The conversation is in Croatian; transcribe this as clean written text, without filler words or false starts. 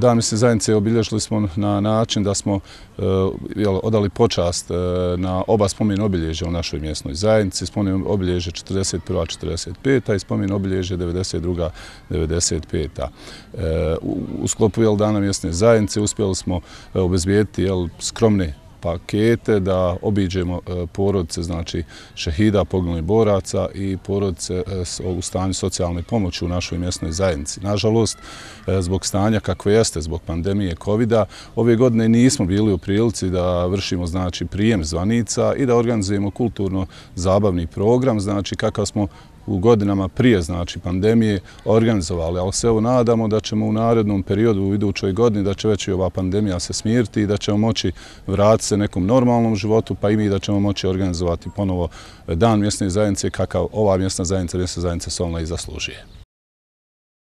Dan mjesne zajednice obilježili smo na način da smo odali počast na oba spomen obilježja u našoj mjesnoj zajednici. Spomen obilježje 41. 45. i spomen obilježje 92. 95. U sklopu Dana mjesne zajednice uspjeli smo obezbijediti skromne pakete da obiđemo porodice, znači šehida, poginulih boraca i porodice u stanju socijalne pomoći u našoj mjesnoj zajednici. Nažalost, zbog stanja kakve jeste, zbog pandemije COVID-a, ove godine nismo bili u prilici da vršimo znači prijem zvanica i da organizujemo kulturno-zabavni program, znači kakav smo u godinama prije znači pandemije organizovali, ali se evo nadamo da ćemo u narednom periodu u idućoj godini da će već i ova pandemija se smiriti i da ćemo moći vratiti se nekom normalnom životu, pa i mi da ćemo moći organizovati ponovo Dan mjesne zajednice kakav ova mjesna zajednica Solna i zaslužuje.